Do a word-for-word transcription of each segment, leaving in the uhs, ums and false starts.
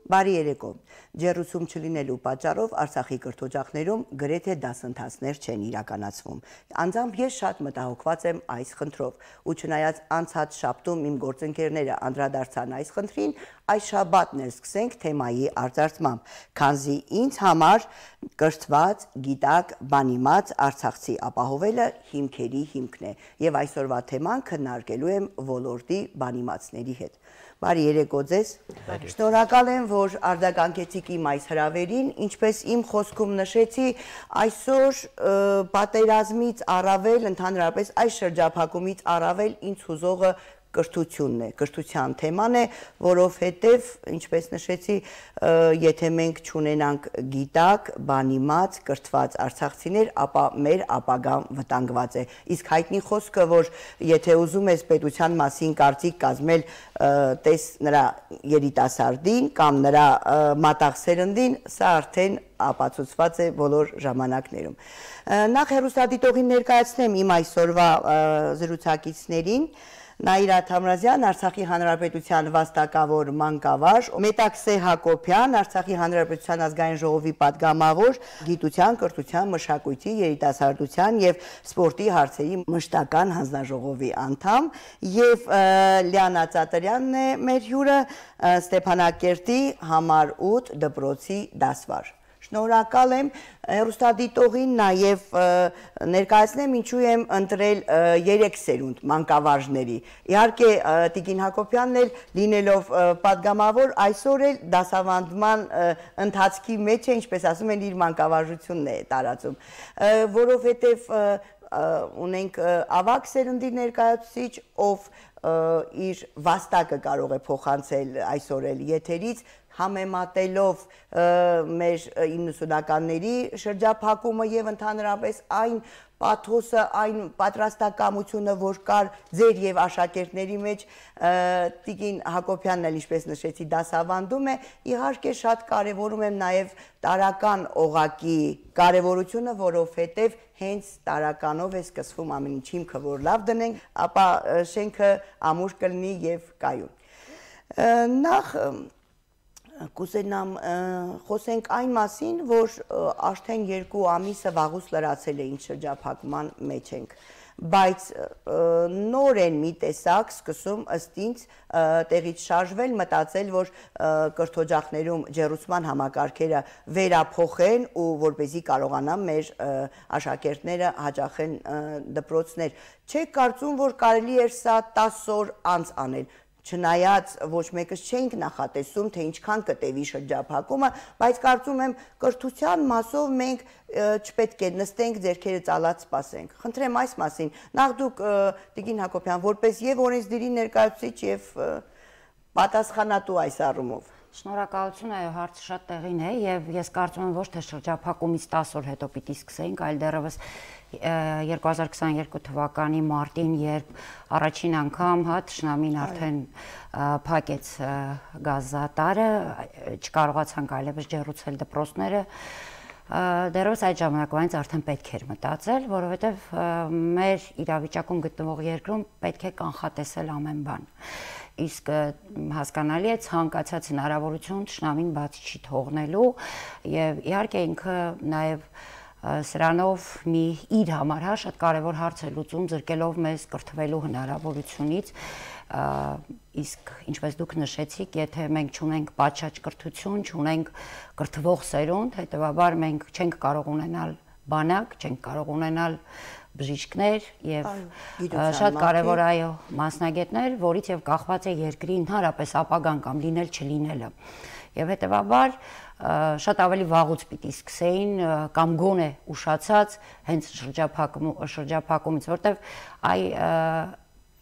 Բարի երեկո։ Ջեռուցում չլինելու պատճառով Արցախի կրթօջախներում գրեթե դասընթացներ չեն իրականացվում։ Անձամբ ես շատ մտահոգված եմ այս խնդրով, ու չնայած անցած շաբթում իմ գործընկերները անդրադարձան այս խնդրին, այս շաբաթն էլ սկսենք թեմայի արձարծմամբ, քանզի ինձ համար կրթված, գիտակ, բանիմաց արցախցի ապահովելը հիմքերի հիմքն է, եւ այսօրվա թեման քննարկելու եմ ոլորտի բանիմացների հետ։ Բարի երեկո ձեզ։ Շնորհակալ եմ, որ արձագանքեցիք իմ այս հրավերին, ինչպես իմ խոսքում նշեցի, այսօր պատերազմից առավել, ընդհանրապես այս շրջափակումից առավել ինձ հուզողը կրթությունն է, կրթության թեման է, որովհետև, ինչպես նշեցի, եթե մենք չունենանք գիտակ, բանիմաց, կրթված արցախցիներ, ապա մեր ապագան վտանգված է։ Իսկ հայտնի խոսքը, որ եթե ուզում ես պետության մասին կարծիք կազմել, տես նրա երիտասարդին կամ նրա մատաղ սերնդին, սա արդեն ապացուցված է բոլոր ժամանակներում։ Նախ հեռուստադիտողին ներկայացնեմ իմ այսօրվա զրուցակիցներին, Նաիրատ Համրազյան, Արցախի Հանրապետության վաստակավոր մանկավար, Մետաքսե Հակոբյան, Արցախի Հանրապետության ազգային ժողովի պատգամավոր, գիտության, կրթության, մշակույթի, երիտասարդության եւ սպորտի հարցերի մշտական հանձնաժողովի անդամ, եւ Լիանա Ծատրյանն է մեր հյուրը, Ստեփանակերտի համար ութ դպրոցի դասվար։ Շնորհակալ եմ հեռուստադիտողին, նաև ներկայացնեմ ինչու եմ ընտրել երեք սերունդ մանկավարժների։ Իհարկե Տիկին Հակոբյանն էլ լինելով պատգամավոր, այսօր էլ դասավանդման ընթացքի մեջ է, ինչպես ասում են, իր մանկավարժությունն է տարածում, որովհետև ունենք ավագ սերնդի ներկայացուցիչ, ով իր վաստակը կարող է փոխանցել այսօր էլ եթերից, համեմատելով մեր իննսունականների շրջափակումը եւ ընդհանրապես այն պաթոսը, այն պատրաստակամությունը, որ կար ձեր եւ աշակերտների մեջ, Տիկին Հակոբյանն էլ ինչպես նշեցի դասավանդում է, իհարկե շատ կարեւորում եմ նաեւ տարական օղակի կարեւորությունը, որովհետեւ հենց տարականով է սկսվում ամեն ինչ, հիմքը որ լավ դնենք, ապա շենքը ամուր կլինի եւ կայուն։ Նախ կուզենամ խոսենք այն մասին, որ արդեն երկու ամիսը վաղուց լրացել է ինչ շրջափակման մեջ ենք, բայց նոր են մի տեսակ սկսում ըստ ինձ տեղից շարժվել, մտածել, որ կրթօջախներում ջեռուցման համակարգերը վերափոխեն ու որպեսզի կարողանան մեր աշակերտները հաճախեն դպրոցներ։ Չեք կարծում, որ կարելի էր սա տասը օր անց անել, չնայած ոչ մեկս չենք նախատեսում, թե ինչքան կտևի շրջափակումը, բայց կարծում եմ կրթության մասով մենք չպետք է նստենք, ձեռքերը ծալած սպասենք։ Խնդրեմ այս մասին, նախ դուք Տիկին Հակոբյան, որպես եւ օրենսդիրի ներկայացուցիչ եւ պատասխանատու այս առումով։ Շնորհակալություն, այո, հարցը շատ տեղին է եւ ես կարծում եմ ոչ թե շրջափակումից տասը օր հետո պիտի սկսենք, այլ դեռևս երկու հազար քսաներկու թվականի մարտին, երբ առաջին անգամ հա թշնամին արդեն փակեց գազատարը, չկարողացանք այլևս ջեռուցել դպրոցները, դեռևս այդ ժամանակվանից արդեն պետք էր մտածել, որովհետև մեր իրավիճակում գտնվող երկրում պետք է կանխատեսել ամեն բան։ Իսկ հասկանալի է ցանկացած հնարավորություն թշնամին բաց չի թողնելու եւ իհարկե ինքը նաեւ սրանով մի իր համար հա շատ կարևոր հարց է լուծում զրկելով մեզ կրթվելու հնարավորությունից, իսկ ինչպես դուք նշեցիք, եթե մենք չունենք պատշաճ կրթություն, չունենք կրթվող սերունդ, հետեւաբար մենք չենք կարող ունենալ բանակ, չենք կարող ունենալ բժիշկներ եւ շատ կարեւոր այո մասնագետներ, որից եւ կախված է երկրի ընդհանրապես ապագան կամ լինել չլինելը։ Եվ հետեւաբար շատ ավելի վաղուց պիտի սկսեին կամ գոնե ուշացած հենց շրջափակումից, որտեվ այ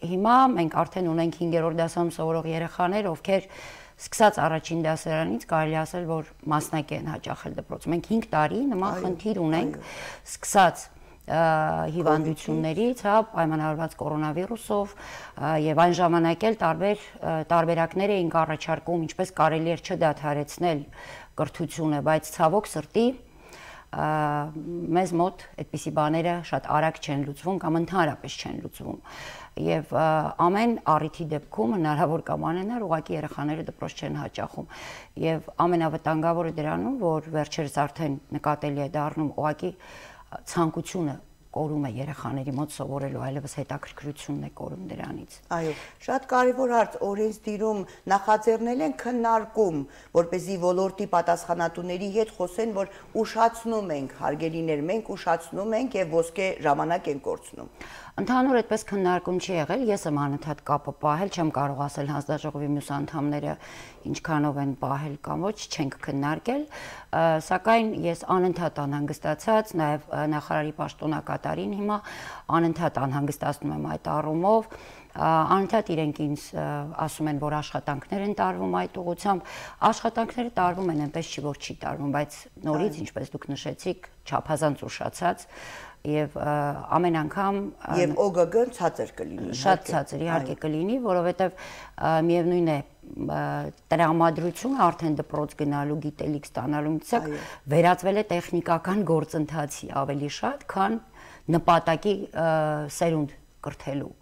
հիմա մենք արդեն ունենք հինգերորդ դասում սովորող երեխաներ, ովքեր սկսած առաջին դասարանից կարելի ասել, որ մասնակի են հաճախել դպրոց։ Մենք հինգ տարի նման խնդիր ունենք, սկսած հիվանդություններից, հա, պայմանավորված կորոնավիրուսով եւ այն ժամանակ էլ տարբեր տարբերակներ էինք առաջարկում, ինչպես կարելի էր չդադարեցնել կրթությունը, բայց ցավոք սրտի մեզ մոտ այդպիսի բաները շատ արագ չեն լուծվում կամ ընդհանրապես չեն լուծվում եւ ամեն առիթի դեպքում հնարավոր կամ անհնար ուղղակի երեխաները դպրոց չեն հաճախում եւ ամենավտանգավորը դրանում որ վերջերս արդեն նկատելի է դառնում ուղղակի ցանկությունը կորում է երեխաների մոտ սովորելու, այլևս հետաքրքրությունն է կորում դրանից։ Այո, շատ կարևոր հարց օրենսդիրում նախաձեռնել են քննարկում, որպեսզի ոլորտի պատասխանատուների հետ խոսեն, որ ուշացնում ենք, հարգելիներ, մենք ուշացնում ենք եւ ոսկե ժամանակ ենք կորցնում։ Ընդհանուր այդպես քննարկում չի եղել, ես եմ անընդհատ կապը պահել, չեմ կարող ասել հանձնաժողովի մյուս անդամները ինչքանով են պահել կամ ոչ, չենք քննարկել, սակայն ես անընդհատ անհանգստացած, նաև նախարարի պաշտոնակատարին հիմա անընդհատ անհանգստացնում եմ այդ առումով, անընդհատ իրենք ինձ ասում են, որ աշխատանքներ են տարվում այդ ուղղությամբ, աշխատանքները տարվում են, այնպես չի որ չի տարվում, բայց նորից, ինչպես դուք նշեցիք, չափազանց ուշացած եւ ամեն անգամ եւ օգգ-ն ցածր կլինի շատ ցածր իհարկե կլինի որովհետեւ միևնույն է տրամադրությունը արդեն դպրոց գնալու գիտելիք ստանալու ցակ վերածվել է տեխնիկական գործընթացի ավելի շատ քան նպատակի սերունդ կրթելու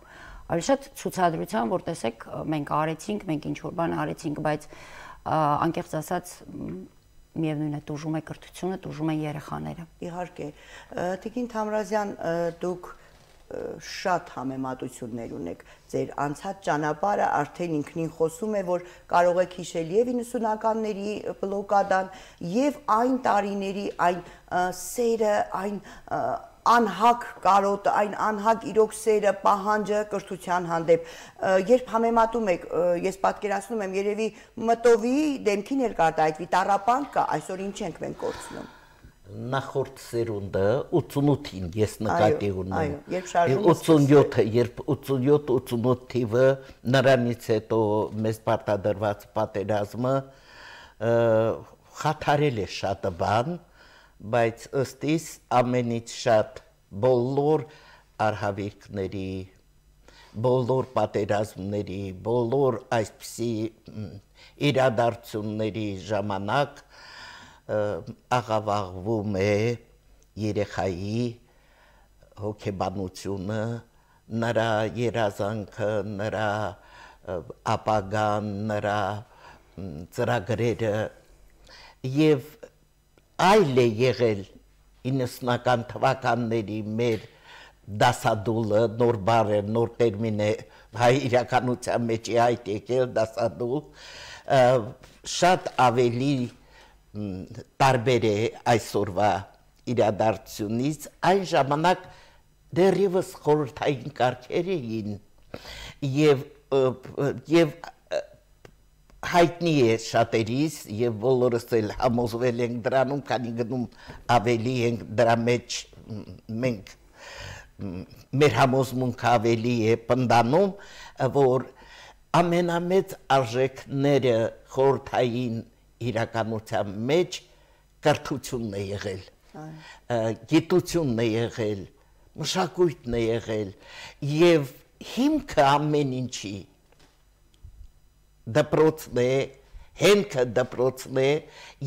ավելի շատ ցուցադրության որ տեսեք մենք արեցինք մենք ինչ որ բան արեցինք բայց անկեղծ ասած միևնույն է տուժում է կրթությունը, տուժում են երեխաները։ Իհարկե, Տիկին Թամրազյան, դուք շատ համեմատություններ ունեք։ Ձեր անցած ճանապարհը արդեն ինքնին խոսում է, որ կարող եք հիշել եւ իննսունականների բլոկադան եւ այն տարիների այն սերը, այն անհակ կարոտը, այն անհակ իրոք սերը, պահանջը կրթության հանդեպ։ Երբ համեմատում եք, ես պատկերացնում եմ, երևի մտովի դեմքի ներկարտայվի տառապանք կա, այսօր ինչ ենք մենք կորցնում։ Նախորդ սերունդը ութսունութին ես նկատի ունեմ։ ութսունյոթը, երբ ութսունյոթ ութսունութ թիվը նրանից հետո մեզ պարտադրված պատերազմը խաթարել է շատ բան, բայց ըստ իս ամենից շատ բոլոր արհավիրքների, բոլոր պատերազմների, բոլոր այսպիսի իրադարձությունների ժամանակ աղավաղվում է երեխայի հոգեբանությունը, նրա երազանքը, նրա ապագան, նրա ծրագրերը եւ այլ է եղել իննսունական թվականների մեր դասադուլը, նոր բառ է, նոր տերմին է, հայ իրականության մեջ է այդ եկել դասադուլ, շատ ավելի տարբեր է այսօրվա իրադարձությունից, այն ժամանակ դեռևս խորհրդային կարգեր էին եւ եւ հայտնի է շատերիս եւ բոլորս էլ համոզվել ենք դրանում, քանի գնում ավելի ենք դրա մեջ մենք մեր համոզմունքը ավելի է պնդանում, որ ամենամեծ արժեքները խորհրդային իրականության մեջ կրթությունն է եղել, գիտությունն է եղել, մշակույթն է եղել եւ հիմքը ամեն ինչի դպրոցն է, հենքը դպրոցն է,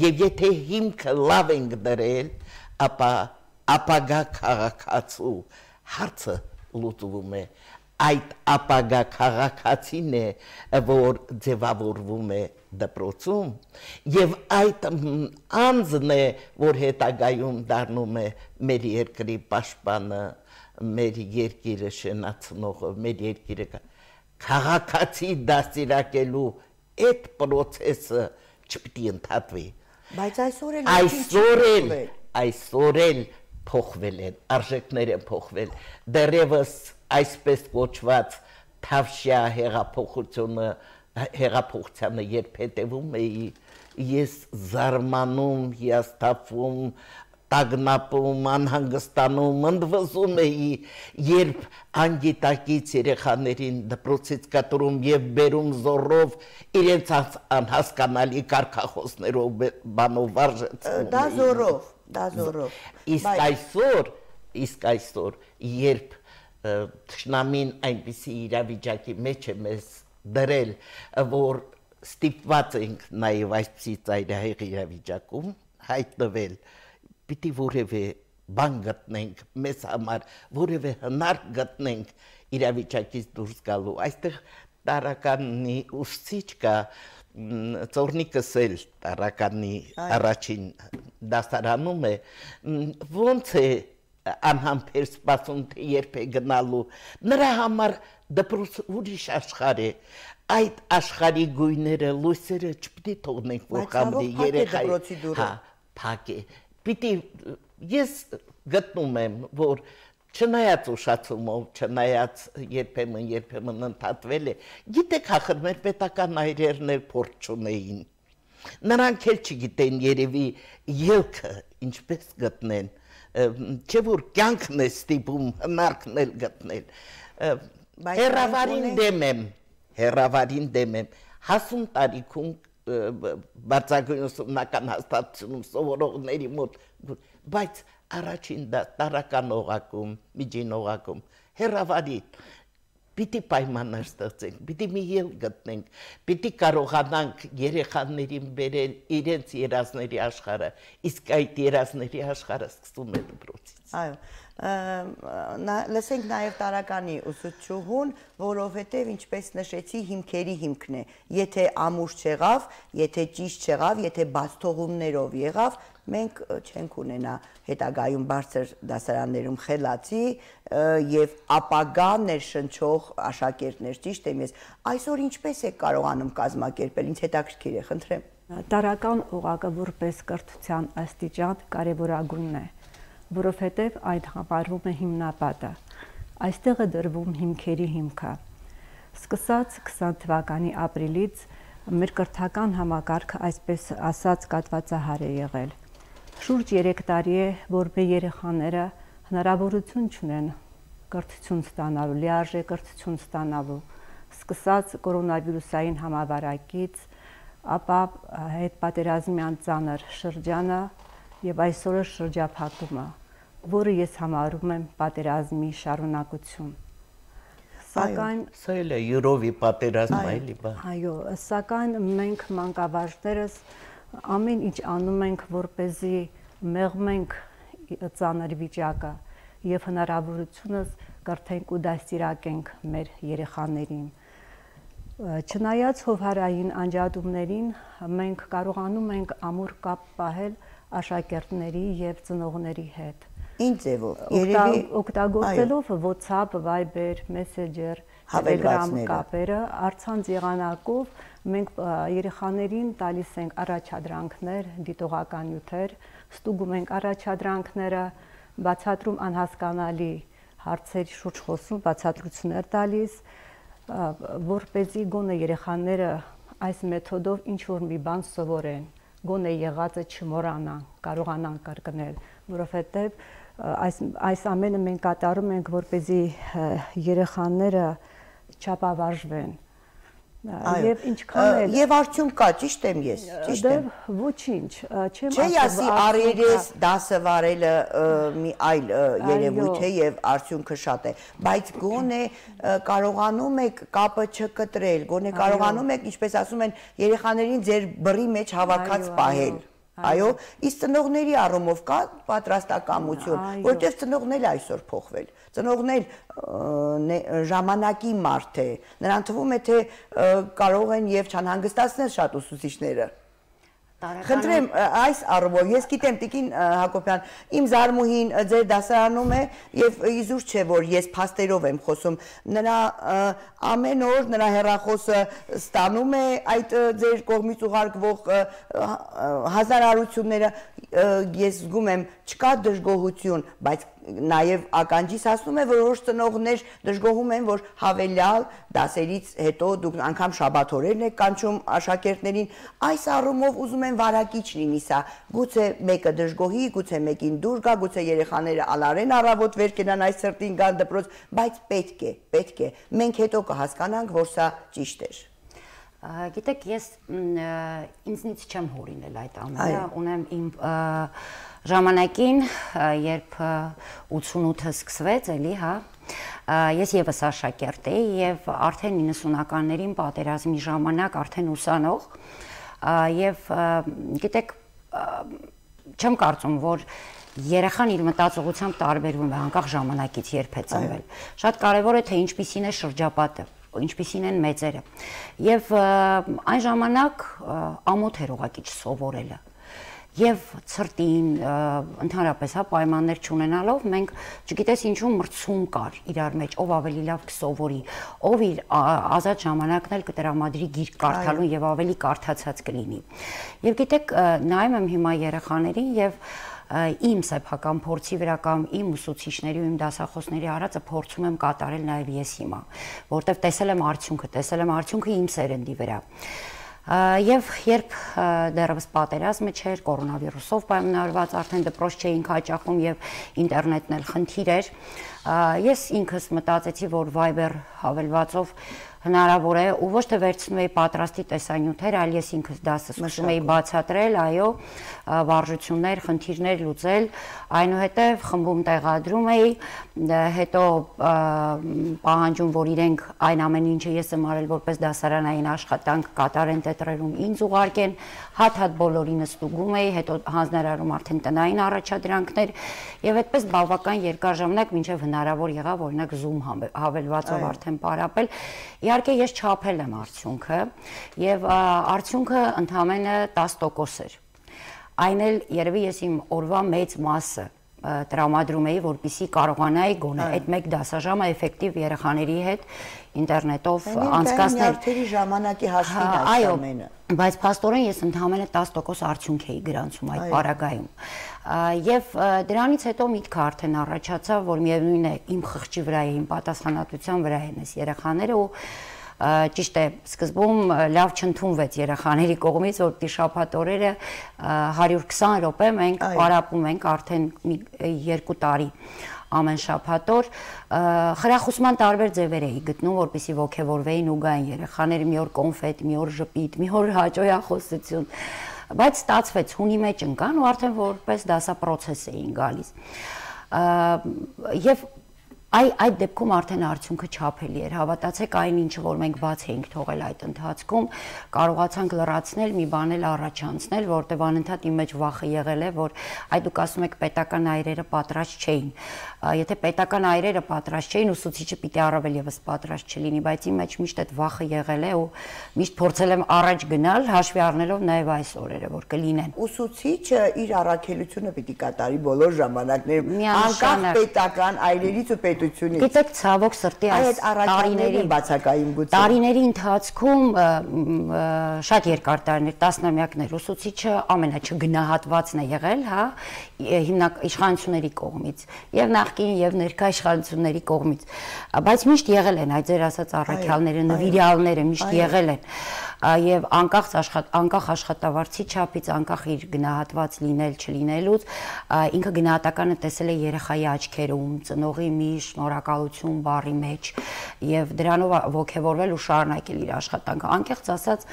եւ եթե հիմքը լավ ենք դրել, ապա ապագա քաղաքացու հարցը լուծվում է։ Այդ ապագա քաղաքացին է, որ ձևավորվում է դպրոցում, եւ այդ անձն է, որ հետագայում դառնում է մեր երկրի պաշտպանը, մեր երկիրը շենացնողը, մեր երկիրը քաղաքացի դաստիարակելու այդ process-ը չպիտի ընդհատվի։ Բայց այսօր էլ այսօր էլ այսօր էլ փոխվել են, արժեքները փոխվել։ Դեռևս այսպես կոչված թավշյա հեղափոխությունը, հեղափոխությանը երբ հետևում էի, ես զարմանում, հիասթափվում, տագնապում, անհանգստանում, ընդվզում էի, երբ անգիտակից երեխաներին դպրոցից կտրում եւ բերում զորով իրենց անհասկանալի կարգախոսներով բանով վարժեցնում։ Դա զորով, դա զորով։ Իսկ այսօր, իսկ այսօր, երբ թշնամին այնպիսի իրավիճակի մեջ է մեզ դրել, որ ստիպված ենք նաեւ այսպիսի ծայրահեղ իրավիճակում հայտնվել պիտի որևէ բան գտնենք մեզ համար, որևէ հնար գտնենք իրավիճակից դուրս գալու։ Այստեղ տարականի ուսուցիչ կա, Ծորնիկս էլ տարականի առաջին դասարանում է, ոնց է անհամբեր սպասում, թե երբ է գնալու, նրա համար դպրոց ուրիշ աշխարհ է, այդ աշխարհի գույները, լույսերը չպիտի թողնենք, որ խամրի երեխայի, հա, փակ է, պիտի, ես գտնում եմ, որ չնայած ուշացումով, չնայած երբեմն երբեմն ընդհատվել է, գիտեք ախր մեր պետական այրերն էլ փորձ չունեին, նրանք էլ չգիտեն երևի ելքը ինչպես գտնեն, չէ որ կյանքն է ստիպում հնարքն էլ գտնել, հեռավարին դեմ եմ, հեռավարին դեմ եմ, հասուն տարիքում բարձրագույն ուսումնական հաստատությունում սովորողների մոտ, բայց առաջին տարական օղակում, միջին օղակում, հեռավարին, պիտի պայմաններ ստեղծենք, պիտի մի ելք գտնենք, պիտի կարողանանք երեխաներին բերել իրենց երազների աշխարհը, իսկ այդ երազների աշխարհը սկսվում է դպրոցից։ Այո, լսենք նաև տարականի ուսուցչուհուն, որովհետև ինչպես նշեցի, հիմքերի հիմքն է, եթե ամուր չեղավ, եթե ճիշտ չեղավ, եթե բացթողումներով եղավ, մենք չենք ունենա հետագայում բարձր դասարաններում խելացի եւ ապագա ներշնչող աշակերտներ, ճիշտ եմ ես, այսօր ինչպես է կարողանում կազմակերպել, ինձ հետաքրքիր է, խնդրեմ։ Տարական օղակը որպես կրթության աստիճան կարևորագույնն է, որովհետև այդ համարվում է հիմնապատը, այստեղ է դրվում հիմքերի հիմքը։ Սկսած քսան թվականի ապրիլից մեր կրթական համակարգը այսպես ասած կատվածահար է եղել։ Շուրջ երեք տարի է, որ մեր երեխաները հնարավորություն չունեն կրթություն ստանալու, լիարժեք կրթություն ստանալու, սկսած կորոնավիրուսային համավարակից, ապա հետպատերազմյան ծանր շրջանը եւ այսօրը շրջափակումը, որը ես համարում եմ պատերազմի շարունակություն։ Սակայն սա էլ է յուրովի պատերազմ այլի բա։ Այո, սակայն մենք մանկավարժներս ամեն ինչ անում ենք, որպեսզի մեղմենք ծանր վիճակը եւ հնարավորությունս կրթենք ու դաստիարակենք մեր երեխաներին։ Չնայած հովհարային անջատումներին, մենք կարողանում ենք ամուր կապ պահել աշակերտների եւ ծնողների հետ։ Ինչ ձևով, երևի օգտագործելով WhatsApp, Viber, Messenger, Telegram կապերը, առցանց եղանակով մենք երեխաներին տալիս ենք առաջադրանքներ, դիտողական նյութեր, ստուգում ենք առաջադրանքները, բացատրում անհասկանալի հարցերի շուրջ խոսում, բացատրություններ տալիս, որպեսզի գոնե երեխաները այս մեթոդով ինչ որ մի բան սովորեն, գոնե եղածը չմոռանան, կարողանան կրկնել, որովհետև այս այս ամենը մենք կատարում ենք, որպեսզի երեխաները չապավարժվեն։ Եվ ինչքան էլ Եվ արդյունք կա, ճիշտ եմ ես, ճիշտ եմ։ Ոչինչ, չեմ Չէ, ասի առերես դասը վարելը մի այլ երևույթ է եւ արդյունքը շատ է, բայց գոնե կարողանում եք կապը չկտրել, գոնե կարողանում եք, ինչպես ասում են, երեխաներին ձեր բռի մեջ հավաքած պահել։ Այո, իսկ ծնողների առումով կա պատրաստակամություն, որտեղ ծնողն էլ այսօր փոխվել։ Ծնողն էլ ժամանակի մարդ է, նրան թվում է, թե կարող են եւ չանհանգստացնել շատ ուսուցիչները։ Խնդրեմ, այս առումով, ես գիտեմ Տիկին Հակոբյան, իմ զարմուհին ձեր դասարանում է եւ իզուր չէ, որ ես փաստերով եմ խոսում, նրա ամեն օր նրա հեռախոսը ստանում է այդ ձեր կողմից ուղարկվող հազարարությունները, ես զգում եմ, չկա դժգոհություն, բայց նաև ականջիս ասում է, որ որոշ ծնողներ դժգոհում են, որ հավելյալ դասերից հետո դուք անգամ շաբաթօրերն եք կանչում աշակերտներին, այս առումով ուզում են վարակիչ լինի սա, գուցե մեկը դժգոհի, գուցե մեկին դուր գա, գուցե երեխաները ալարեն առավոտ վեր կենան այս սրտին գան դպրոց, բայց պետք է, պետք է, մենք հետո կհասկանանք, որ սա ճիշտ էր։ Գիտեք, ես ինձնից չեմ հորինել այդ ամենը, ունեմ իմ ժամանակին, երբ ութսունութը սկսվեց, էլի, հա, ես եւս աշակերտ էի եւ արդեն իննսունականներին պատերազմի ժամանակ արդեն ուսանող եւ գիտեք չեմ կարծում, որ երեխան իր մտածողությամբ տարբերվում է անկախ ժամանակից, երբ է ծնվել։ Շատ կարևոր է թե ինչպիսին է շրջապատը, ինչպիսին են մեծերը։ Եվ այն ժամանակ ամոթ էր ուղղակի չսովորելը։ Եվ ցրտին, ընդհանրապես հա պայմաններ չունենալով մենք չգիտես ինչու մրցում կար իրար մեջ, ով ավելի լավ կսովորի, ով իր ազատ ժամանակն էլ կտրամադրի գիրք կարդալուն եւ ավելի կարդացած կլինի։ Եվ գիտեք, նայում եմ հիմա երեխաներին եւ իմ սեփական փորձի վրա կամ իմ ուսուցիչների ու իմ դասախոսների արածը փորձում եմ կատարել նաեւ ես հիմա, որտեվ տեսել եմ արդյունքը, տեսել եմ արդյունքը իմ սերնդի վրա։ Եվ երբ դեռևս պատերազմը չէր, կորոնավիրուսով պայմանավորված արդեն դպրոց չէինք հաճախում եւ ինտերնետն էլ խնդիր էր, ես ինքս մտածեցի, որ Viber հավելվածով հնարավոր է ու ոչ թե վերցնում էի պատրաստի տեսանյութեր, այլ ես ինքս դասը սկսում էի բացատրել, այո, վարժություններ, խնդիրներ լուծել, այնուհետև խմբում տեղադրում էի, հետո պահանջում, որ իրենք այն ամեն ինչը ես եմ արել որպես դասարանային աշխատանք կատարեն տետրերում ինձ ուղարկեն, հատ-հատ բոլորին ստուգում էի, հետո հանձնարարում արդեն տնային առաջադրանքներ եւ այդպես բավական երկար ժամանակ մինչեւ հնարավոր եղավ օրինակ Zoom հավելվածով արդեն պարապել։ Իհարկե ես չափել եմ արդյունքը եւ արդյունքը ընդամենը տասը տոկոս էր։ Այն էլ երևի ես իմ օրվա մեծ մասը տրամադրում էի, որպեսզի կարողանայի գոնե այդ մեկ դասաժամը էֆեկտիվ երեխաների հետ ինտերնետով անցկացնել։ Նյարդերի ժամանակի հաշվին այս ամենը։ Բայց փաստորեն ես ընդամենը տասը տոկոս արդյունք էի գրանցում այդ պարագայում։ Եվ դրանից հետո միտքը արդեն առաջացավ, որ միևնույն է իմ խղճի վրա է, իմ պատասխանատվության վրա են այս երեխաները ու ճիշտ է, սկզբում լավ չընդունվեց երեխաների կողմից, որ շաբաթ օրերը հարյուր քսան րոպե մենք պարապում ենք արդեն երկու տարի ամեն շաբաթ օր, խրախուսման տարբեր ձևեր էի գտնում, որպեսզի ոգևորվեին ու գային երեխաները, մի օր կոնֆետ, մի օր ժպիտ, մի օր հաճոյախոսություն, բայց ստացվեց, հունի մեջ ընկան ու արդեն որպես դասապրոցես էին գալիս։ Եվ Այ այդ դեպքում արդեն արդյունքը չափելի էր, հավատացեք այն ինչը, որ մենք բաց էինք թողել այդ ընթացքում, կարողացանք լրացնել, մի բան էլ առաջանցնել, որտեղ անընդհատ իմ մեջ վախը եղել է, որ այ դուք ասում եք պետական այրերը պատրաստ չէին։ Եթե պետական այրերը պատրաստ չէին, ուսուցիչը պիտի առավել եւս պատրաստ չլինի, բայց իմ մեջ միշտ այդ վախը եղել է ու միշտ փորձել եմ առաջ գնալ, հաշվի առնելով նաեւ այս օրերը, որ կլինեն։ Ուսուցիչը իր առաքելությունը պիտի կատարի բոլոր ժամանակներում, անկախ պետական այրերից ու պետությունից։ Գիտեք, ցավոք սրտի այս տարիների բացակային գուցե տարիների ընթացքում շատ երկար տարիներ, տասնամյակներ ուսուցիչը ամենաչգնահատվածն է եղել, հա, հիմնական իշխանությունների կողմից եւ նախկին եւ ներկա իշխանությունների կողմից, բայց միշտ եղել են այդ ձեր ասած առաքյալները, նվիրյալները միշտ եղել են եւ անկախ աշխատ անկախ աշխատավարձի չափից, անկախ իր գնահատված լինել չլինելուց, ինքը գնահատականը տեսել է երեխայի աչքերում, ծնողի մի շնորհակալություն բառի մեջ եւ դրանով ողջևորվել ու շարունակել իր աշխատանքը։ Անկեղծ ասած,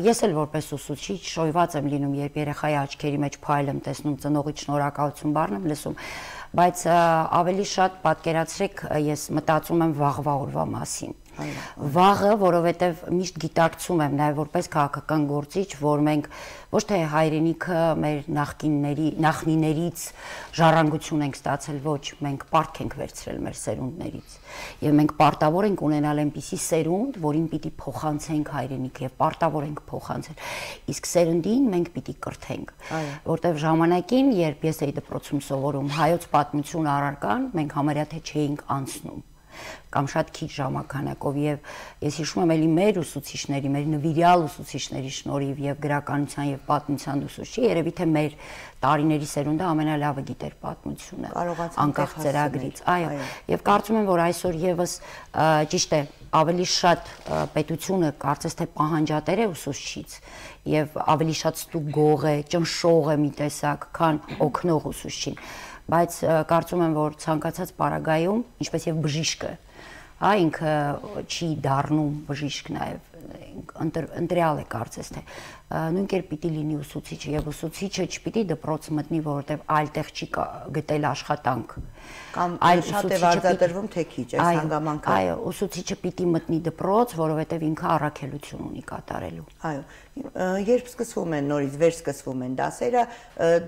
ես էլ որպես ուսուցիչ շոյված եմ լինում, երբ երեխայի աչքերի մեջ փայլ եմ տեսնում, ծնողի շնորհակալություն բառն եմ լսում, բայց ավելի շատ պատկերացրեք, ես մտածում եմ վաղվա օրվա մասին։ Վաղը, որովհետև միշտ գիտակցում եմ նաև որպես քաղաքական գործիչ, որ մենք ոչ թե հայրենիքը մեր նախկինների, նախնիներից ժառանգություն ենք ստացել, ոչ, մենք պարտք ենք վերցրել մեր սերունդներից։ Եվ մենք պարտավոր ենք ունենալ այնպիսի սերունդ, որին պիտի փոխանցենք հայրենիքը եւ պարտավոր ենք փոխանցել։ Իսկ սերնդին մենք պիտի կրթենք, որտեղ ժամանակին, երբ ես էի դպրոցում սովորում հայոց պատմություն առարկան, մենք համարյա թե չէինք անցնում կամ շատ քիչ ժամանակով եւ ես հիշում եմ էլի մեր ուսուցիչների, մեր նվիրյալ ուսուցիչների շնորհիվ եւ գրականության եւ պատմության ուսուցչի, երևի թե մեր տարիների սերունդը ամենալավը գիտեր պատմությունը, անկախ ծրագրից, այո, եւ կարծում եմ, որ այսօր եւս ճիշտ է, ավելի շատ պետությունը կարծես թե պահանջատեր է ուսուցչից եւ ավելի շատ ստուգող է, ճնշող է մի տեսակ, քան օգնող ուսուցչին, բայց կարծում եմ, որ ցանկացած պարագայում, ինչպես եւ բժիշկը, հա, ինքը չի դառնում բժիշկ նաև, ընտրյալ է կարծես թե նույն կերպ պիտի լինի ուսուցիչը եւ ուսուցիչը չպիտի դպրոց մտնի, որովհետեւ այլ տեղ չի գտել աշխատանք կամ այլ շատ է վարձատրվում թե քիչ այս հանգամանքը։ Այո, ուսուցիչը պիտի մտնի դպրոց, որովհետեւ ինքը առաքելություն ունի կատարելու։ Այո, երբ սկսվում են նորից վերսկսվում են դասերը,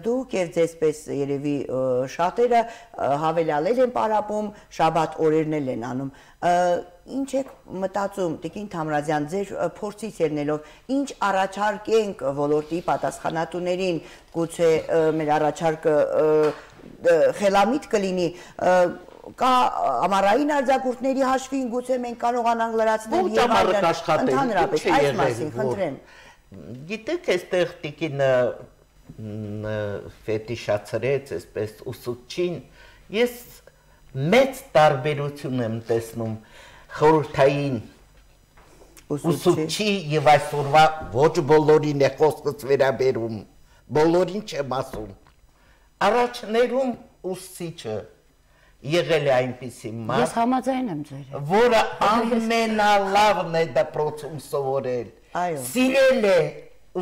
դուք եւ ձեզպես երևի շատերը հավելյալել են պարապում, շաբաթ օրերն էլ են անում։ Ինչ եք մտածում, Տիկին Թամրազյան, ձեր փորձից ելնելով, ինչ առաջարկենք ոլորտի պատասխանատուներին, գուցե մեր առաջարկը խելամիտ կլինի, կա ամառային արձակուրդների հաշվին, գուցե մենք կարողանանք լրացնել եւ այլն, ընդհանրապես այս մասին խնդրեմ։ Գիտեք, այստեղ Տիկինը ֆետիշացրեց, այսպես ուսուցչին, ես մեծ տարբերություն եմ տեսնում խորհրդային ուսուցչի եւ այսօրվա ոչ բոլորին է խոսքս վերաբերում, բոլորին չեմ ասում։ Առաջներում ուսուցիչը եղել է այնպիսի մարդ, ես համաձայն եմ ձեր հետ, որը ամենալավն է դպրոցում սովորել, սիրել է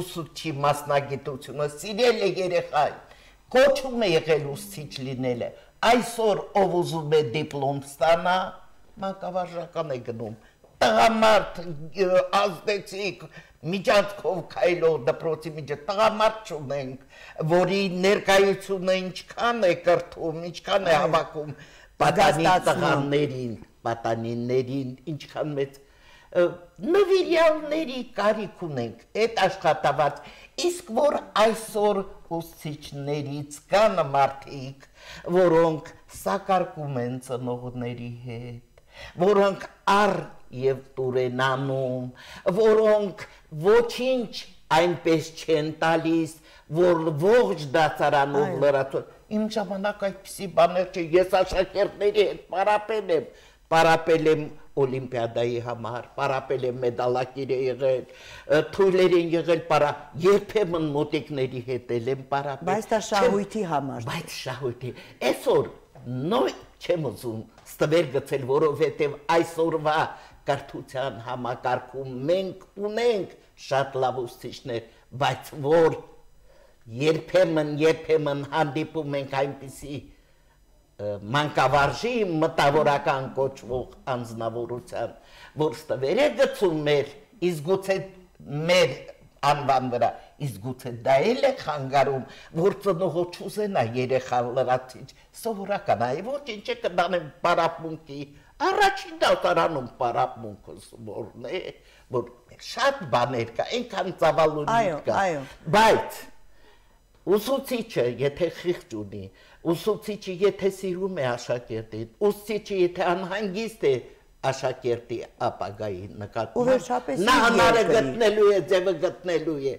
ուսուցչի մասնագիտությունը, սիրել է երեխային, կոչում է եղել ուսուցիչ լինելը, այսօր ով ուզում է դիպլոմ ստանա, մանկավարժական է գնում, տղամարդ ազդեցիկ միջանցքով քայլող դպրոցի միջը տղամարդ չունենք, որի ներկայությունը ինչքան է կրթում, ինչքան է հավաքում պատանի տղաներին, պատանիներին, ինչքան մեծ նվիրյալների կարիք ունենք, այդ աշխատավարձ, իսկ որ այսօր ուսուցիչներից կան մարդիկ, որոնք սակարկում են ծնողների հետ, որոնք առ եւ տուր են անում, որոնք ոչինչ այնպես չեն տալիս, որ ողջ դասարանով լրացում։ Իմ ժամանակ այդպիսի բաներ չէ, ես աշակերտների հետ պարապել եմ, պարապել եմ Օլիմպիադայի համար, պարապել եմ մեդալակիր է եղել, թույլեր են եղել պարա, երբեմն մոտիկների հետ էլ եմ պարապել։ Բայց դա շահույթի համար։ Բայց շահույթի։ Այսօր նոյ չեմ ուզում ստվեր գցել, որովհետև այսօրվա կրթության համակարգում մենք ունենք շատ լավ ուսուցիչներ, բայց որ երբեմն, երբեմն հանդիպում ենք այնպիսի մանկավարժի մտավորական կոչվող անձնավորության, որ ստվեր է գցում մեր, իսկ գուցե մեր անվան վրա, իսկ գուցե դա էլ է խանգարում, որ ծնողը չուզենա երեխան լրացիչ, սովորական է, ոչինչ է կդանեմ պարապմունքի, առաջին դասարանում պարապմունքը սովորն է, որ շատ բաներ կա, այնքան ծավալունի կա, բայց ուսուցիչը եթե խիղճ ունի, ուսուցիչը եթե սիրում է աշակերտին, ուսուցիչը եթե անհանգիստ է աշակերտի ապագայի նկատմամբ, նա հնարը գտնելու է, ձևը գտնելու է,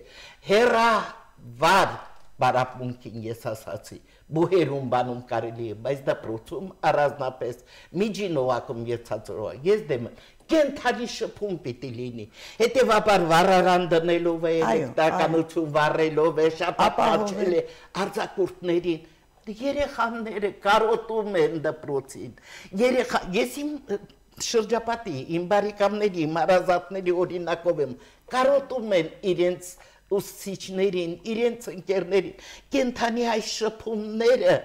հեռավար պարապմունքին ես ասացի, բուհերում բանում կարելի է, բայց դպրոցում առանձնապես միջին օղակում եթացրոհ, ես դեմ կենթանի շփում պիտի լինի, հետևաբար վառարան դնելով է, էլեկտրականություն վառելով է, շապապաչել է արձակուրդներին, երեխաները կարոտում են դպրոցին, ես իմ շրջապատի, իմ բարեկամների, իմ հարազատների օրինակով եմ, կարոտում են իրենց ուսուցիչներին, իրենց ընկերներին, կենթանի այս շփումները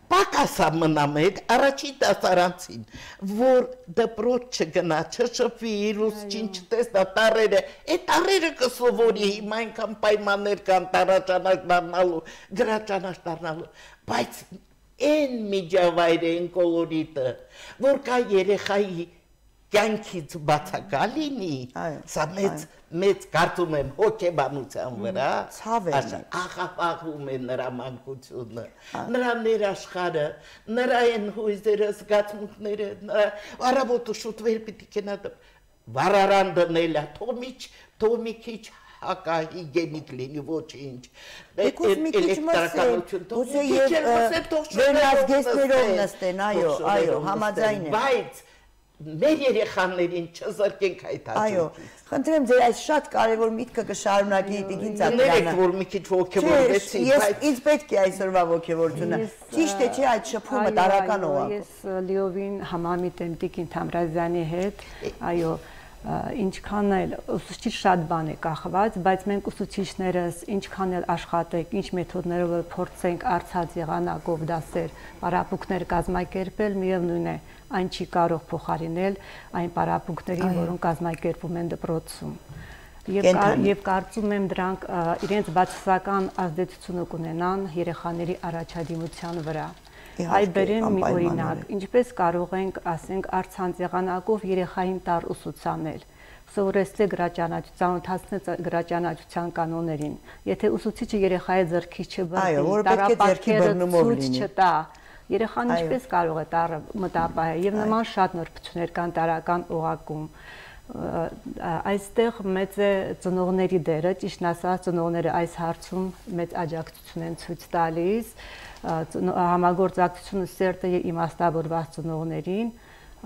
պակասա մնամ հետ առաջի դասարանցին, որ դպրոց չգնա, չշփվի, իր ուսուցչին չտեսնա, տառերը, այդ տառերը կսովորի, հիմա այնքան պայմաններ կան տարաճանակ դառնալու, գրաճանակ դառնալու, բայց այն միջավայրը, այն կոլորիտը, որ կա երեխայի կյանքից բացակա լինի, սա մեծ կարծում եմ հոգեբանության վրա, աղավաղում է նրա մանկությունը, նրա ներաշխարը, նրա են հույզերը, զգացմունքները, առավոտը շուտ վեր պիտի կենա վառարան դնելա, թող մի քիչ հակահիգենիկ լինի ոչինչ, էլեկտրականություն, թող մի քիչ էլ մսել, թող վերնազգեստներով նստեն, այո, այո, համաձայն եմ, բայց մեր երեխաներին չզրկենք այդ Այո, խնդրեմ ձեր այս շատ կարևոր միտքը կշարունակի Տիկին Ծաղրյանը։ Ներեք, որ մի քիչ ոգևորվեցի, բայց ինձ պետք է այսօրվա ոգևորությունը։ Ճիշտ է, չէ, այդ շփումը տարական օղակով։ Ես լիովին համամիտ եմ Տիկին Թամրազյանի հետ, այո, ինչքան էլ ուսուցիչ շատ բան է կախված, բայց մենք ուսուցիչներս ինչքան էլ աշխատենք, ինչ մեթոդներով փորձենք արցած եղանակով դասեր, պարապմունքներ կազմակերպել, միևնույն է, այն չի կարող փոխարինել այն պարապմունքներին, որոնք կազմակերպվում են դպրոցում։ Եվ կարծում եմ դրանք իրենց բացասական ազդեցությունը կունենան երեխաների առաջադիմության վրա։ Այ բերեմ մի օրինակ, ինչպես կարող ենք, ասենք, առցանց եղանակով երեխային տար ուսուցանել, սովորեցնել գրաճանաչության, ընթացնել գրաճանաչության կանոններին։ Եթե ուսուցիչը երեխայի ձեռքից չբռնի, տարապանքերը ցույց չտա, երեխան ինչպես կարող է տառը մտապահել, եւ նման շատ նորբություններ կան տարական օղակում։ Այստեղ մեծ է ծնողների դերը, ճիշտն ասած, ծնողները այս հարցում մեծ աջակցություն են ցույց տալիս, համագործակցությունը սերտ է իմաստավորված ծնողներին,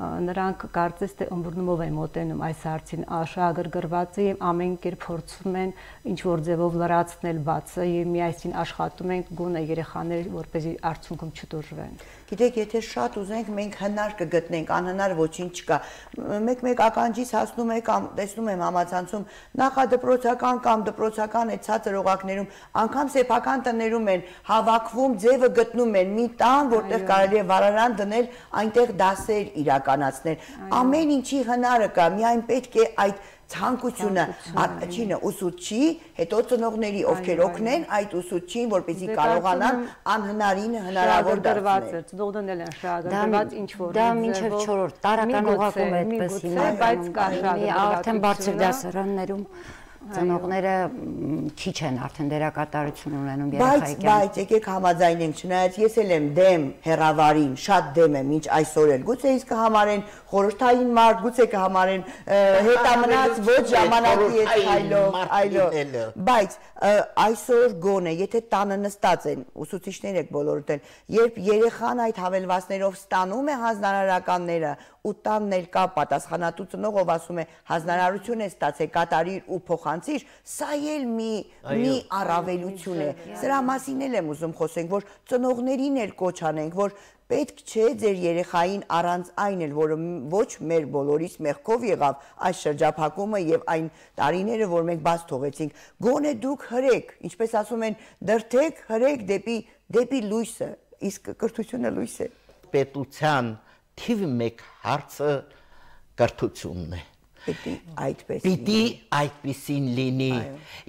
նրանք կարծես թե ըմբռնումով են մոտենում այս հարցին, աշահագրգռված է եւ ամեն կերպ փորձում են ինչ որ ձևով լրացնել բացը եւ միասին աշխատում են գոնե երեխաները որպեսզի արդյունքում չտուժվեն։ Գիտեք, եթե շատ ուզենք, մենք հնար կգտնենք, անհնար ոչինչ չկա։ Մեկ-մեկ ականջից հասնում է կամ տեսնում եմ համացանցում նախադպրոցական կամ դպրոցական այդ ցածր օղակներում, անգամ սեփական տներում են հավաքվում, ձևը գտնում են մի տան, որտեղ կարելի է վարարան դնել, այնտեղ դասեր իրականացնել։ Ամեն ինչի հնարը կա, միայն պետք է այդ ցանկությունը, առաջինը ուսուցչի, հետո ծնողների, ովքեր օգնեն այդ ուսուցչին, որպեսզի կարողանան անհնարինը հնարավոր դարձնել։ Ծնողներն են շահագրգռված ինչ որ դա մինչև չորրորդ տարեկան օղակում է այդպես հիմա, բայց կա շահագրգռվածություն, արդեն բարձր դասարաններում ծնողները քիչ են արդեն դերակատարություն ունենում երեխայի կյանքում։ Բայց եկեք համաձայնենք, չնայած ես էլ եմ դեմ հեռավարին, շատ դեմ եմ, ինչ այսօր էլ։ Գուցե իսկ կհամարեն խորհրդային մարդ, գուցե կհամարեն հետամնաց ոչ ժամանակի հետ այլով, այլով։ Բայց այսօր գոնե, եթե տանը նստած են, ուսուցիչներ եք բոլորդ էլ, երբ երեխան այդ հավելվածներով ստանում է հանձնարարականները, ու տանն էլ կա պատասխանատու ծնող, ով ասում է հանձնարարություն է ստացել, կատարիր ու փոխանցիր, սա էլ մի մի առավելություն է։ Սրա մասին էլ եմ ուզում խոսենք, որ ծնողներին էլ կոչ անենք, որ պետք չէ ձեր երեխային առանց այն էլ, որը ոչ մեր բոլորիս մեղքով եղավ այս շրջափակումը եւ այն տարիները, որ մենք բաց թողեցինք, գոնե դուք հրեք, ինչպես ասում են, դրթեք, հրեք դեպի դեպի լույսը, իսկ կրթությունը լույս է։ Պետության թիվ մեկ հարցը կրթությունն է։ Պիտի այդպես Պիտի այդպեսին լինի։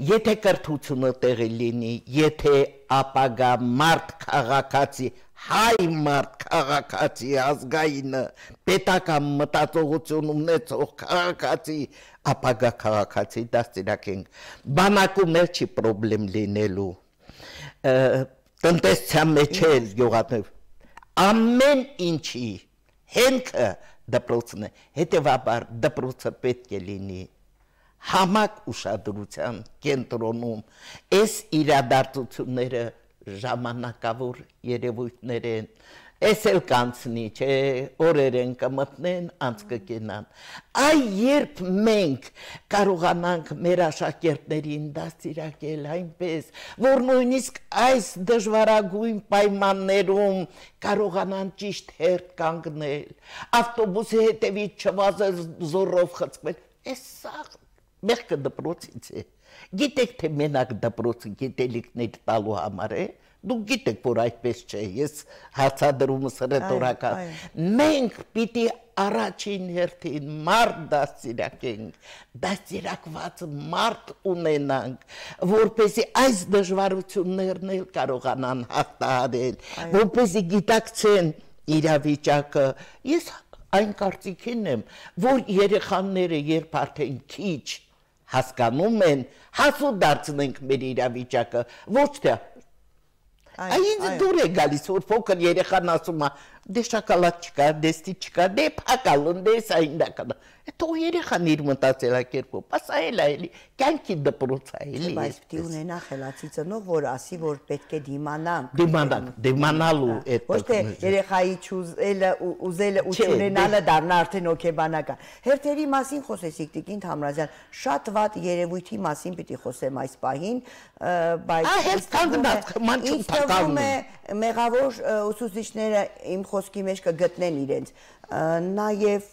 Եթե կրթությունը տեղի լինի, եթե ապագա մարդ քաղաքացի, հայ մարդ քաղաքացի ազգայինը, պետական մտածողություն ունեցող քաղաքացի, ապագա քաղաքացի դաստիարակենք։ Բանակում էլ չի պրոբլեմ լինելու։ Տնտեսության մեջ էլ գյուղատնեվ ամեն ինչի հենքը դպրոցն է, հետևաբար դպրոցը պետք է լինի համակ ուշադրության կենտրոնում, այս իրադարձությունները ժամանակավոր երևույթներ են, այս էլ կանցնի, չէ, օրեր են կմտնեն, անց կկենան։ Այ երբ մենք կարողանանք մեր աշակերտներին դաստիարակել այնպես, որ նույնիսկ այս դժվարագույն պայմաններում կարողանան ճիշտ հերթ կանգնել, ավտոբուսի հետևից չվազել զորով խցկվել, այս սա մեղքը դպրոցից է։ Գիտեք, թե մենակ դպրոցը գիտելիքներ տալու համար է, դուք գիտեք, որ այդպես չէ, ես հարցադրումս ռետորական։ Մենք պիտի առաջին հերթին մարդ դաստիարակենք, դաստիարակված մարդ ունենանք, որպեսզի այս դժվարություններն էլ կարողանան հաղթահարել, որպեսզի գիտակցեն իրավիճակը։ Ես այն կարծիքին եմ, որ երեխաները երբ արդեն քիչ հասկանում են, հասու դարձնենք մեր իրավիճակը, ոչ թե Այնց դուր է գալիս, որ փոքր երեխան ասում է, դե շոկոլադ չկա, դեստի չկա, դե փակալուն, դե սա ինդականը։ Հետո երեխան իր մտածելակերպով, ասա էլ այլի, կյանքի դպրոց է էլի։ Բայց պիտի ունենա խելացի ծնող, որ ասի, որ պետք է դիմանանք։ Դիմանանք, դիմանալու այդ։ Ոչ թե երեխայի չուզելը, ուզելը ու չունենալը դառնա արդեն հոգեբանական։ Հերթերի մասին խոսեցիք, Տիկին Թամրազյան, շատ վատ երևույթի մասին պիտի խոսեմ այս պահին, բայց Ահա կանգնած, մանչում թվում է մեղավոր ուսուցիչները իմ խոսքի մեջ կգտնեն իրենց։ Նաև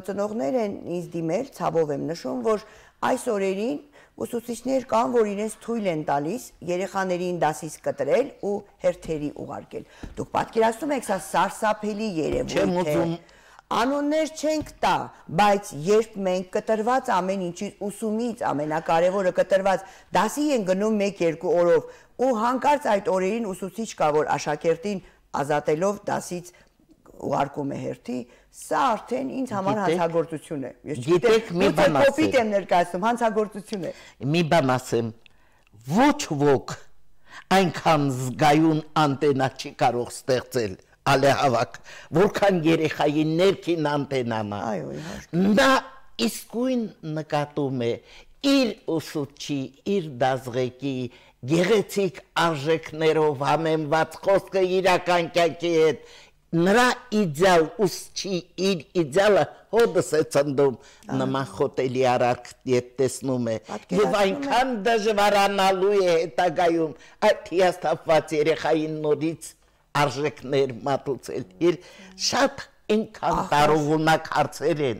ծնողներ են ինձ դիմել, ցավով եմ նշում, որ այս օրերին ուսուցիչներ կան, որ իրենց թույլ են տալիս երեխաներին դասից կտրել ու հերթերի ուղարկել։ Դուք պատկերացնում եք, սա սարսափելի երևույթ է։ Անուններ չենք տա, բայց երբ մենք կտրված ամեն ինչից ուսումից ամենակարևորը կտրված դասի են գնում մեկ-երկու օրով ու հանկարծ այդ օրերին ուսուցիչ կա, որ աշակերտին ազատելով դասից ուղարկում է հերթի, սա արդեն ինձ համար հանցագործություն է։ Ես գիտեք, մի բան ասեմ։ Կոպիտ եմ ներկայացնում, հանցագործություն է։ Մի բան ասեմ, ոչ ոք այնքան զգայուն անտենա չի կարող ստեղծել, ալեհավաք, որքան երեխայի ներքին անտենան է։ Այո, իհարկե։ Նա իսկույն նկատում է իր ուսուցչի, իր դասղեկի գեղեցիկ արժեքներով համեմված խոսքը իրական կյանքի հետ, նրա իդեալ ուսուցչի իր իդեալը հոդս է ծնդում, նման խոտելի արարք ետ տեսնում է, և այնքան դժվարանալու է հետագայում այդ հիասթափված երեխային նորից արժեքներ մատուցել, շատ ինքան տարողունակ հարցեր են,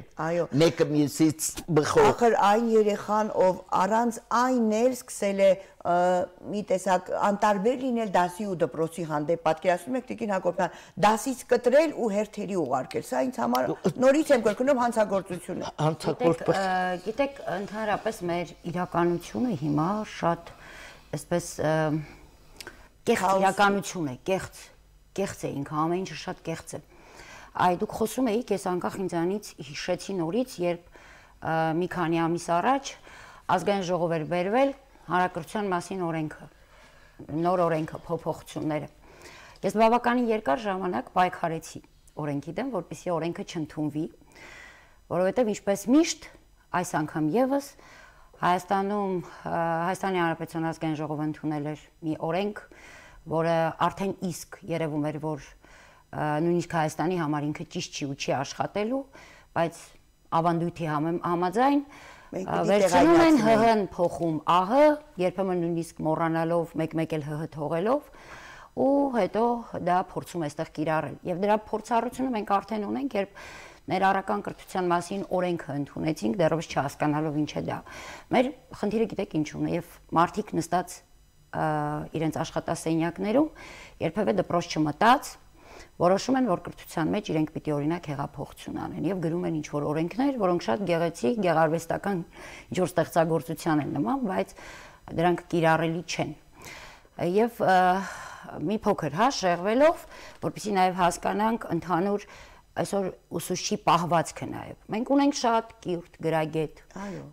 մեկը մյուսից բխող։ Ախր այն երեխան, ով առանց այն էլ սկսել է մի տեսակ անտարբեր լինել դասի ու դպրոցի հանդեպ, պատկերացնում եք Տիկին Հակոբյան, դասից կտրել ու հերթերի ուղարկել, սա ինձ համար նորից եմ կրկնում հանցագործություն է։ Հանցագործություն։ Գիտեք, ընդհանրապես մեր իրականությունը հիմա շատ այսպես կեղծ իրականություն է, կեղծ, կեղծ է ինքը, ամեն ինչը շատ կեղծ է։ Այ դուք խոսում էիք, ես անկախ ինձանից հիշեցի նորից, երբ մի քանի ամիս առաջ ազգային ժողով էր բերվել հանրակրթության մասին օրենքը, նոր օրենքը, փոփոխությունները։ Ես բավականին երկար ժամանակ պայքարեցի օրենքի դեմ, որպեսզի օրենքը չընդունվի, որովհետև ինչպես միշտ այս անգամ եւս Հայաստանում Հայաստանի Հանրապետության ազգային ժողովը ընդունել էր մի օրենք, որը արդեն իսկ երևում էր, որ նույնիսկ Հայաստանի համար ինքը ճիշտ չի ու չի աշխատելու, բայց ավանդույթի համաձայն վերցնում են ՀՀ-ն փոխում ԱՀ, երբեմն նույնիսկ մոռանալով մեկ-մեկ էլ ՀՀ թողելով ու հետո դա փորձում է այստեղ կիրառել։ Եվ դրա փորձառությունը մենք արդեն ունենք, երբ ներառական կրթության մասին օրենքը ընդունեցինք, դեռևս չհասկանալով ինչ է դա։ Մեր խնդիրը գիտեք ինչու՞մն է, եւ մարդիկ նստած իրենց աշխատասենյակներում երբևէ դպրոց չմտած որոշում են, որ կրթության մեջ իրենք պիտի օրինակ հեղափոխություն անեն եւ գրում են ինչ-որ օրենքներ, որոնք շատ գեղեցիկ, գեղարվեստական ինչ-որ ստեղծագործության են նման, բայց դրանք կիրառելի չեն։ Եվ մի փոքր հա շեղվելով, որպեսզի նաեւ հասկանանք ընդհանուր այսօր ուսուցչի պահվածքը նաեւ։ Մենք ունենք շատ կիրթ, գրագետ,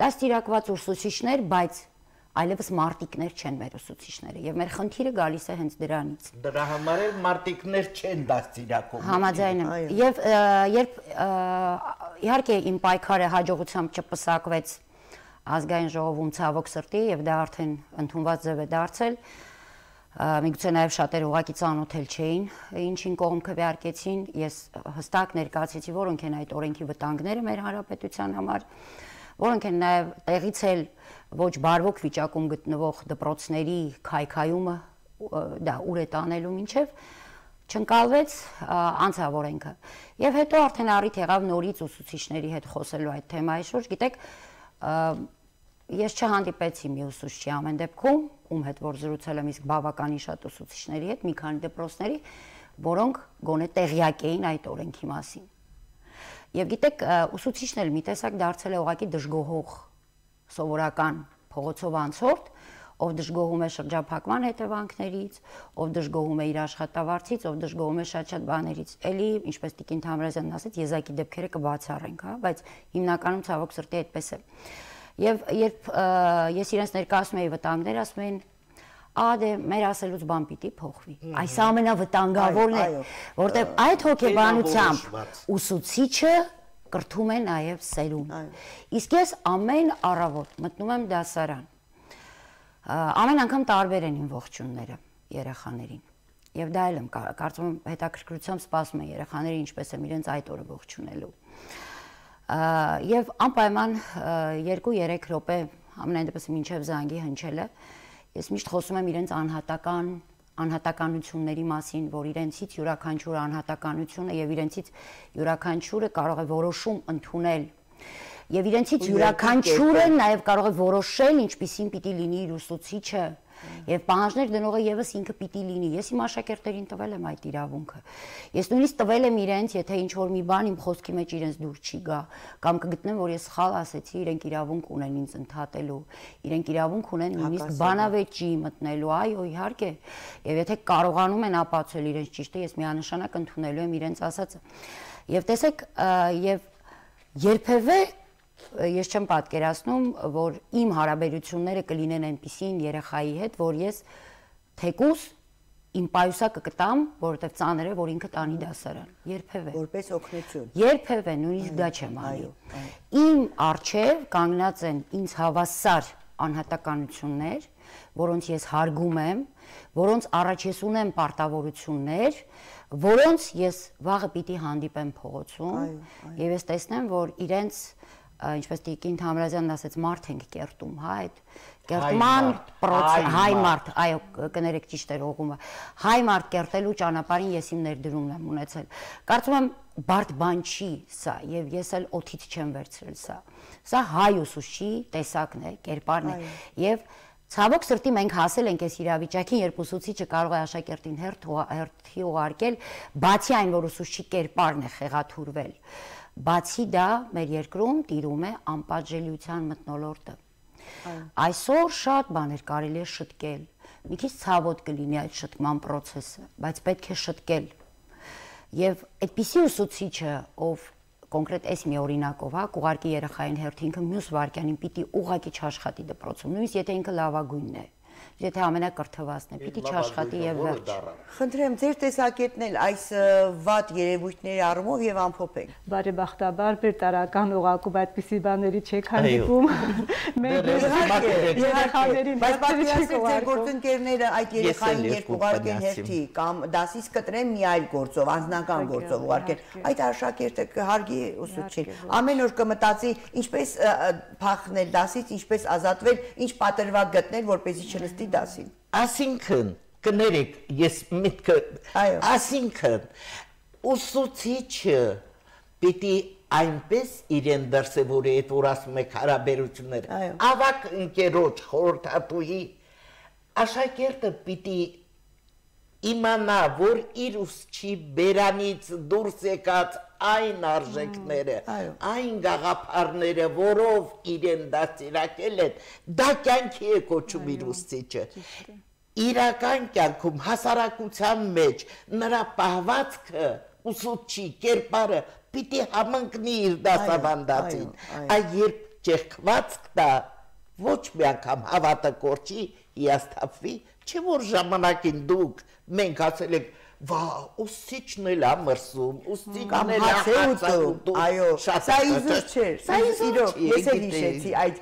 դաստիարակված ուսուցիչներ, բայց այլևս մարտիկներ չեն մեր ուսուցիչները եւ մեր խնդիրը գալիս է հենց դրանից։ Դրա համար էլ մարտիկներ չեն դաստիարակում։ Համաձայն եմ։ Եվ երբ իհարկե իմ պայքարը հաջողությամբ չպսակվեց ազգային ժողովում ցավոք սրտի եւ դա արդեն ընդունված ձև է դարձել, միգուցե նաեւ շատերը ուղղակի ծանոթել չէին, ինչին կողմ քվեարկեցին, ես հստակ ներկայացրեցի, որոնք են այդ օրենքի վտանգները մեր հանրապետության համար, որոնք են նաեւ տեղից էլ ոչ բարվոք վիճակում գտնվող դպրոցների քայքայումը դա ուր է տանելու մինչև չընկալվեց անցավ օրենքը։ Եվ հետո արդեն առիթ եղավ նորից ուսուցիչների հետ խոսելու այդ թեմայի շուրջ, գիտեք, ես չհանդիպեցի մի ուսուցչի ամեն դեպքում, ում հետ որ զրուցել եմ իսկ բավականին շատ ուսուցիչների հետ, մի քանի դպրոցների, որոնք գոնե տեղյակ էին այդ օրենքի մասին։ Եվ գիտեք, ուսուցիչն էլ մի տեսակ դարձել է ուղղակի դժգոհող սովորական փողոցով անցորդ, ով դժգոհում է շրջափակման հետևանքներից, ով դժգոհում է իր աշխատավարձից, ով դժգոհում է շատ-շատ բաներից։ Էլի, ինչպես Տիկին Թամրազյանն ասաց, եզակի դեպքերը կբացառենք, հա, բայց հիմնականում ցավոք սրտի այդպես է։ Եվ երբ ես իրենց ներկայացնում էի վտանգներ, ասում էին, «Ա դե մեր ասելուց բան պիտի փոխվի»։ Այս ամենավտանգավորն է, որտեղ այդ հոգեբանությամբ ուսուցիչը կրթում է նաև սերուն։ Իսկ ես ամեն առավոտ մտնում եմ դասարան։ Ամեն անգամ տարբեր են իմ ողջունները երեխաներին։ Եվ դա էլ եմ կարծում եմ հետաքրքրությամբ սպասում են երեխաները ինչպես եմ իրենց այդ օրը ողջունելու։ Եվ անպայման երկու-երեք րոպե ամենայն դեպս մինչև զանգի հնչելը ես միշտ խոսում եմ իրենց անհատական անհատականությունների մասին, որ իրենցից յուրաքանչյուր անհատականությունը եւ իրենցից յուրաքանչյուրը կարող է որոշում ընդունել եւ իրենցից յուրաքանչյուրը նաեւ կարող է որոշել ինչպիսին պիտի լինի իր ուսուցիչը եւ պահանջներ դնողը եւս ինքը պիտի լինի։ Ես իմ աշակերտերին տվել եմ այդ իրավունքը։ Ես նույնիսկ տվել եմ իրենց, եթե ինչ որ մի բան իմ խոսքի մեջ իրենց դուր չի գա, կամ կգտնեմ, որ ես սխալ ասեցի, իրենք իրավունք ունեն ինձ ընդհատելու, իրենք իրավունք ունեն նույնիսկ բանավեճի մտնելու, այո, իհարկե։ Եվ եթե կարողանում են ապացուցել իրենց ճիշտը, ես միանշանակ ընդունելու եմ իրենց ասածը։ Եվ տեսեք, եւ երբևէ ես չեմ պատկերացնում, որ իմ հարաբերությունները կլինեն այնպիսին երեխայի հետ, որ ես թեկուզ իմ պայուսակը կտամ, որովհետև ծանր է, որ ինքը տանի դասարան։ Երբևէ։ Որպես օգնություն։ Երբևէ, նույնիսկ դա չեմ անի։ Իմ առջև կանգնած են ինձ հավասար անհատականություններ, որոնց ես հարգում եմ, որոնց առաջ ես ունեմ պարտավորություններ, որոնց ես վաղը պիտի հանդիպեմ փողոցում, եւ ես տեսնեմ, որ իրենց ինչպես Տիկին Թամրազյանն ասեց, մարդ ենք կերտում, հա, այդ կերտման պրոցես, հայ մարդ, այո, կներեք ճիշտ էր ուղղումը, հայ մարդ կերտելու ճանապարհին ես իմ ներդրումն եմ ունեցել։ Կարծում եմ բարդ բան չի սա, եւ ես էլ օթից չեմ վերցրել սա։ Սա հայ ուսուցչի տեսակն է, կերպարն է, եւ ցավոք սրտի մենք հասել ենք այս իրավիճակին, երբ ուսուցիչը կարող է աշակերտին հերթի ուղարկել, բացի այն, որ ուսուցչի կերպարն է խեղաթյուրվել։ Բացի դա մեր երկրում տիրում է անպատժելիության մթնոլորտը։ Այսօր շատ բաներ կարելի է շտկել, մի քիչ ցավոտ կլինի այդ շտկման process-ը, բայց պետք է շտկել։ Եվ այդպիսի ուսուցիչը, ով կոնկրետ այս մի օրինակով, հա, կուղարկի երեխային հերթին, ինքը մյուս վարքյանին պիտի ուղղակի չաշխատի դպրոցում, նույնիսկ եթե ինքը լավագույնն է։ Եթե ամենակրթվածն է, պիտի չաշխատի եւ վերջ։ Խնդրեմ ձեր տեսակետն էլ այս վատ երևույթների առումով եւ ամփոփեք։ Բարեբախտաբար բերտարական օղակում այդպիսի բաների չեք հանդիպում։ Մենք երեխաներին բայց պատկերացրեք ձեր գործընկերները այդ երեխային երբ ուղարկեն հերթի կամ դասից կտրեն մի այլ գործով, անձնական գործով ուղարկեն, այդ աշակերտը կհարգի ուսուցչին։ Ամեն օր կմտածի ինչպես փախնել դասից, ինչպես ազատվել, ինչ պատրվակ գտնել, որպեսզի չնստի դասին։ Այսինքն, կներեք, ես միտքը, այսինքն, ուսուցիչը պիտի այնպես իրեն դրսևորի, այդ որ ասում եք հարաբերություններ, ավակ ընկերոջ խորհրդատուի, աշակերտը պիտի իմանա, որ իր ուսուցչի բերանից դուրս եկած այն արժեքները, այն գաղափարները, որով իրեն դաստիարակել են, դա կյանքի է կոչում իր ուսուցիչը։ Իրական կյանքում հասարակության մեջ նրա պահվածքը, ուսուցչի կերպարը պիտի համընկնի իր դասավանդածին։ Այդ երբ ճեղքված կտա, ոչ մի անգամ հավատը կորչի, հիասթափվի, չէ որ ժամանակին դուք մենք ասել եք վա, ուսուցիչն էլ է մրսում, ուսուցիչն էլ է հացաուտում, այո, սա իզուր չէր, սա իրոք, ես էլ հիշեցի այդ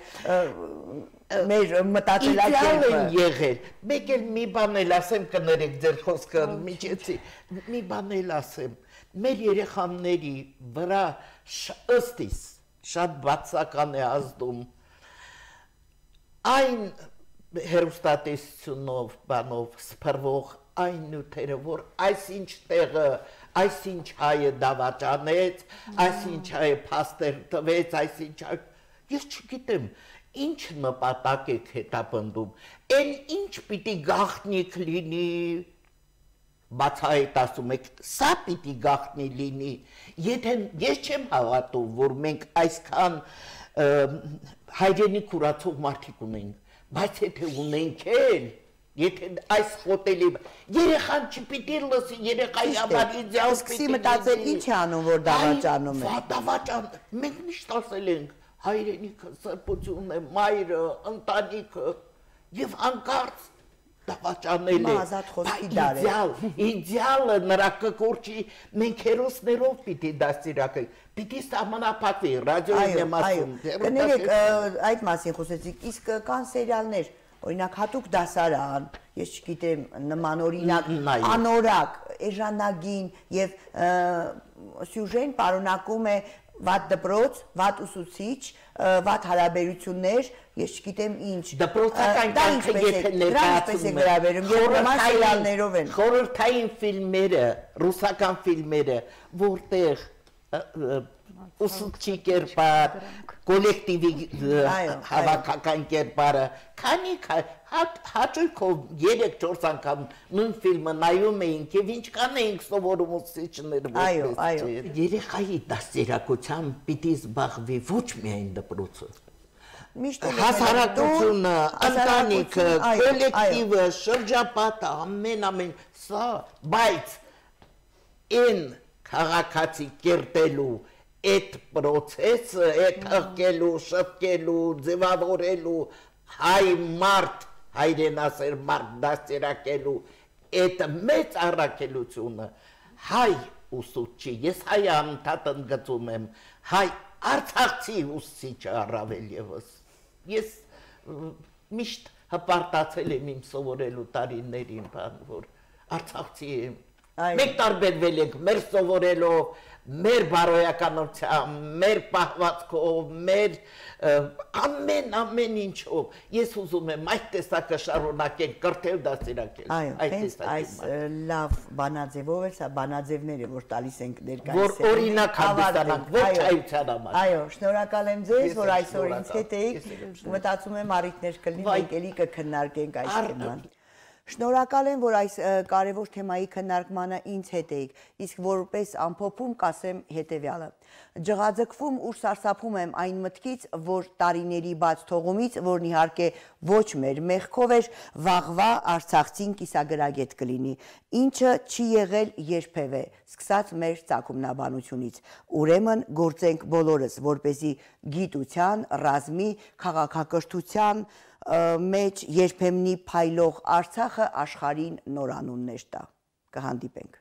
մեր մտածելակերպը։ Իդեալ են եղել, մեկ էլ մի բան էլ ասեմ, կներեք ձեր խոսքը միջեցի, մի բան էլ ասեմ, մեր երեխաների վրա ըստիս շատ բացական է ազդում այն հեռուստատեսությունով, բանով սփռվող այն նյութերը, որ այսինչ տեղը, այսինչ հայը դավաճանեց, այսինչ հայը փաստեր տվեց, այսինչ հայը, ես չգիտեմ, ինչ նպատակ եք հետապնդում, այն ինչ պիտի գաղտնիք լինի, բացահայտ ասում եք, սա պիտի գաղտնի լինի, եթե ես չեմ հավատում, որ մենք այսքան հայրենիք ուրացող մարդիկ ունենք, բայց եթե ունենք էլ, եթե այս խոտելի, երեխան չպիտի լսի, երեխայի համար իդեալ սկսի մտածել ինչ է անում, որ դավաճանում է։ Դավաճան, մենք միշտ ասել ենք, հայրենիքը սրբությունն է, մայրը, ընտանիքը, եւ հանկարծ դավաճանել է, իդեալ, իդեալը նրա կկորչի, մենք հերոսներով պիտի դաստիարակենք, պիտի սահմանափակվի, ռադիոյին եմ ասում։ Կներեք, այդ մասին խոսեցիք, իսկ կան սերիալներ, օրինակ հատուկ դասարան, ես չգիտեմ, նմանօրինակ, անորակ, էժանագին եւ սյուժեն պարունակում է վատ դպրոց, վատ ուսուցիչ, վատ հարաբերություններ, ես չգիտեմ ինչ։ Դպրոցական կյանքը եթե ներկայացնում են, նորմալ սերիալներով են։ Խորհրդային ֆիլմերը, ռուսական ֆիլմերը, որտեղ ուսուցչի կերպար, կոլեկտիվի հավաքական կերպարը, քանի հաճույքով երեք-չորս անգամ նույն ֆիլմը նայում էինք եւ ինչքան էինք սովորում ուսուցիչները որպես երեխայի դաստիարակությամբ պիտի զբաղվի ոչ միայն դպրոցը, հասարակությունը, ընտանիքը, կոլեկտիվը, շրջապատը, ամեն-ամեն սա, բայց այն քաղաքացի կերտելու այդ պրոցեսը, այդ հղկելու, շտկելու, ձևավորելու, հայ մարդ, հայրենասեր մարդ դաստիարակելու, այդ մեծ առաքելությունը, հայ ուսուցչի, ես հայ անընդհատ ընդգծում եմ, հայ արցախցի ուսուցիչը առավել ևս, ես միշտ հպարտացել եմ իմ սովորելու տարիներին, որ արցախցի եմ, մենք տարբերվել ենք մեր սովորելով, մեր բարոյականությամբ, մեր պահվածքով, մեր ամեն-ամեն ինչով, ես ուզում եմ այդ տեսակը շարունակել, կրթել դաստիարակել։ Այո, հենց այս լավ բանաձևով է, սա բանաձևներ է, որ տալիս ենք ներկայիս։ Որ օրինակ հանդիսանանք, ոչ այության համար։ Այո, շնորհակալ եմ ձեզ, որ այսօր ինձ հետ էիք, մտածում եմ առիթներ կլինի, մենք էլի կքննարկենք այս թեման։ Շնորհակալ եմ, որ այս կարևոր թեմայի քննարկմանը ինձ հետ էիք, իսկ որպես ամփոփում կասեմ հետևյալը. ջղաձգվում ու սարսափում եմ այն մտքից, որ տարիների բաց թողումից, որն իհարկե ոչ մեր մեղքով էր, վաղվա Արցախցին կիսագրագետ կլինի, ինչը չի եղել երբևէ, սկսած մեր ծագումնաբանությունից։ Ուրեմն գործենք բոլորս, որպեսզի գիտության, ռազմի, քաղաքակրթության մեջ երբեմնի փայլող Արցախը աշխարհին նոր անուններ տա։ Կհանդիպենք։